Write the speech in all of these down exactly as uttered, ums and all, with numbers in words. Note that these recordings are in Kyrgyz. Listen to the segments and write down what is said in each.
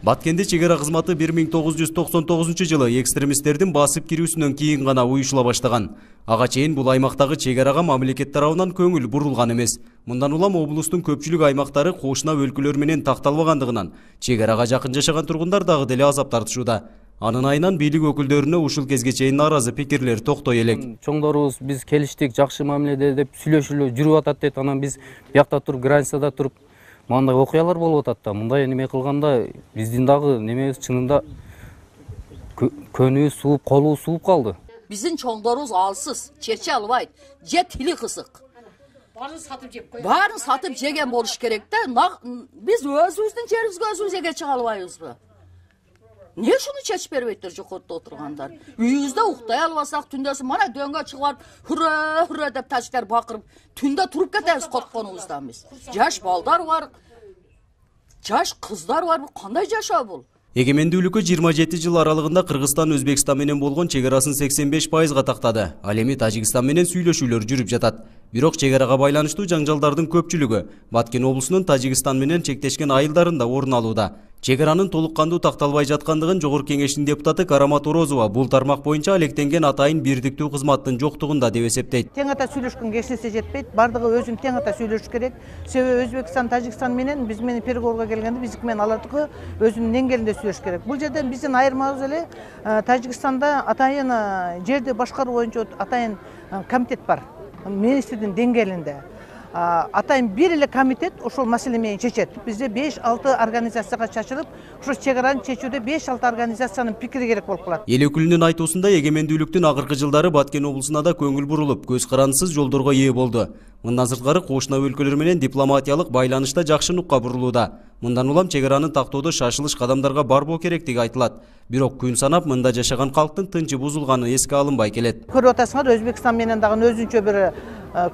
Баткенде чегара кызматы бир миң тогуз жүз токсон тогузунчу жылы экстремисттердин басып кирүүсүнөн кийин гана уюшула баштаган. Ага чейин бул аймактагы чегарага мамлекет тарабынан көңүл бурулган эмес. Мындан улам облустун көпчүлүк аймактары кошуна өлкөлөр менен такталбагандыгынан чегарага жакын жашаган тургундар дагы деле азап тартышууда. Анын айынан бийлик өкүлдөрүнө ушул кезге чейин нааразы пикирлер токтой элек. Чоңдорубуз биз келиштик, жакшы мамиледе деп сүйлөшүлүп жүрүп атат дейт. Анан биз биякта туруп, границада туруп мындай окуялар болуп атат да. Мындай неме кылганда биздин дагы немебиз чынында көнүбүз сууп, колубуз сууп калды. Биздин чоңдорубуз алсыз, чече албайт, же тили кысык. Баарын сатып жеп койгон. Баарын сатып жеген болуш керек да. Биз өзүбүздүн жерибизге өзүбүз эге чыга албайбызбы? Не шуну чечип бербейттер жокотто отургандар? Үйүбүздө уктай албасак, түндөсү мана дөңгө чыгып барып, хура хура деп тачтар бакырып, түндө туруп кетебиз коркконубуздан биз. Жаш балдар бар, жаш кыздар бар, кандай жашоо бул? Эгемендүүлүккө жыйырма жети жыл аралыгында Кыргызстан Өзбекстан менен болгон чегарасын сексен беш пайызга тактады. Ал эми Тажикстан менен сүйлөшүүлөр жүрүп жатат. Бирок чегарага байланыштуу жаңжалдардын көпчүлүгү Баткен облусунун Тажикстан менен чектешкен айылдарында орун алууда. Чегаранын толук кандуу такталбай жаткандыгын Жогорку Кеңештин депутаты Карамат Орозова бул тармак боюнча алектенген атайын бирдиктүү кызматтын жоктугунда деп эсептейт. Тең ата сүйлөшкөнгө эчнерсе жетпейт, бардыгы өзүн тең ата сүйлөшүш керек. Себеби Өзбекстан, Тажикстан менен биз менен переговорго келгенде биздики менен алардыкы өзүнүн деңгээлинде сүйлөшүш керек. Бул жерден биздин айырмабыз эле Тажикстанда атайын жерди башкаруу боюнча атайын комитет бар. Министрдин деңгээлинде. Атайын бир эле комитет ошол маселе менен чечет. Бизде беш алты организацияга чачылып, ошо чегараны чечүүдө беш алты организациянын пикири керек болуп калат. Эл өкүлүнүн айтуусунда эгемендүүлүктүн акыркы жылдары Баткен облусуна да көңүл бурулуп, көз карандысыз жолдорго ээ болду. Мындан сырткары кошуна өлкөлөр менен дипломатиялык байланышта жакшы нукка бурулууда. Мындан улам чегараны тактоодо шашылыш кадамдарга барбоо керектиги айтылат. Бирок күн санап мында жашаган калктын тынчы бузулганы эске алынбай келет. Көрүп атасыңар, Өзбекстан менен дагы өзүнчө бир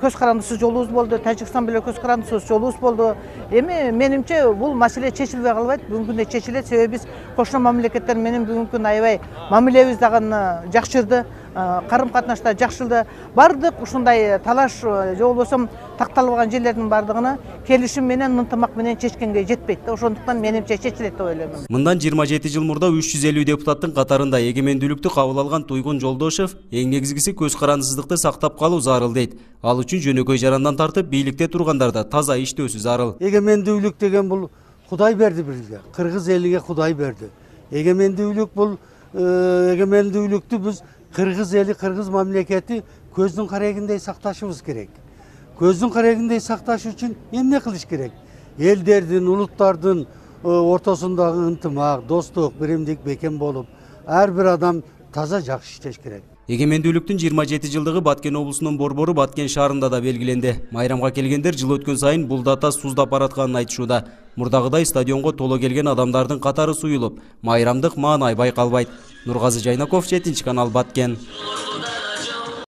көз карандысыз жолубуз болду, Тажикстан менен көз карандысыз жолубуз болду. Эми менимче бул маселе чечилбей калбайт, бүгүнкү күндө чечилет. Себеби биз кошуна мамлекеттер менен бүгүнкү күндө аябай мамилебиз дагы жакшырды, карым катнашта жакшырды. Бардык ушундай талаш же болбосо такталбаган жерлердин бардыгына келишим менен, ынтымак менен чечкенге жетпейт. Ошондуктан менимче чечилет деп ойлойм. Мындан жыйырма жети жыл мурда үч жүз элүү депутаттын катарында эгемендүүлүктү кабыл алган Туйгун Жолдошев эң негизгиси көз карандысыздыкты сактап калуу зарыл дейт. Ал үчүн жөнөкөй жарандан тартып бийликте тургандарда таза иштөөсү зарыл. Эгемендүүлүк деген бул Кудай берди бизге. Кыргыз элиге Кудай берди. Эгемендүүлүк бул эгемендүүлүктү биз Кыргыз эли, Кыргыз мамлекети көздүн карегиндей сакташыбыз керек. Көздүн карегиндей сакташ үчүн эмне кылыш керек? Элдердин, улуттардын ортосундагы ынтымак, достук, биримдик бекем болуп, ар бир адам таза жакшы иштеш керек. Эгемендүүлүктүн жыйырма жети жылдыгы Баткен облусунун борбору Баткен шаарында да белгиленди. Майрамга келгендер жыл өткөн сайын бул дата суздап баратканын айтышууда. Мурдагыдай стадионго толо келген адамдардын катары суюлуп, майрамдык маанай байкалбайт. Нургазы Жайнаков, жетинчи канал, Баткен.